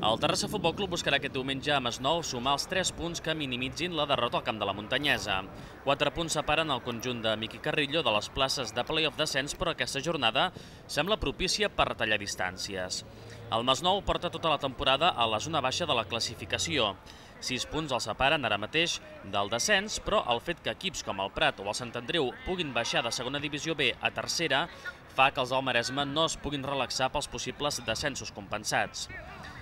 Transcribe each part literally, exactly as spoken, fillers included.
El Terrassa Futbol Club buscarà aquest diumenge a Masnou sumar els tres punts que minimitzin la derrota al camp de la Muntanyesa. Quatre punts separen el conjunt de Miqui Carrillo de les places de play-off descens, però aquesta jornada sembla propícia per retallar distàncies. El Masnou porta tota la temporada a la zona baixa de la classificació. Sis punts el separen ara mateix del descens, però el fet que equips com el Prat o el Sant Andreu puguin baixar de segona divisió B a tercera fa que els del Maresme no es puguin relaxar pels possibles descensos compensats.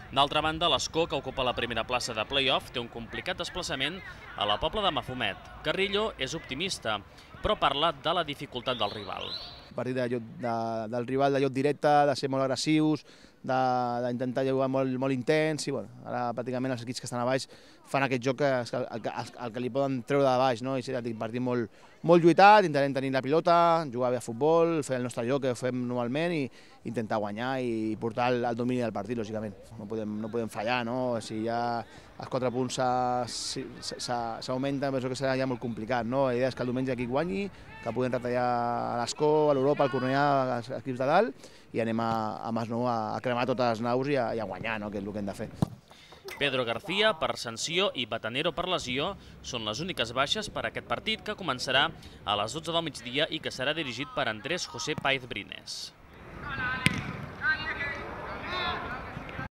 D'altra banda, l'Escó, que ocupa la primera plaça de play-off, té un complicat desplaçament a la Pobla de Mafumet. Carrillo és optimista, però parla de la dificultat del rival. A partir de lloc, de, del rival de lloc directe, de ser molt agressius, d'intentar jugar molt, molt intens, i bueno, ara pràcticament els equips que estan a baix fan aquest joc que, el, el, el que li poden treure de baix, no? I serà un partit molt, molt lluitat, intentarem tenir la pilota, jugar bé a futbol, fer el nostre joc que fem normalment i intentar guanyar i portar el, el domini del partit, lògicament. No podem, no podem fallar, no? Si ja els quatre punts s'augmenten, penso que serà ja molt complicat, no? La idea és que el diumenge aquí guanyi, que puguem retallar a l'Escó, a l'Europa, al Cornellà, als equips de dalt, i anem a, a Masnou a, a cremar totes les naus i a, i a guanyar, no? Que és el que hem de fer. Pedro García, per sanció, i Batanero, per lesió, són les úniques baixes per a aquest partit, que començarà a les dotze del migdia i que serà dirigit per Andrés José Páez Brines.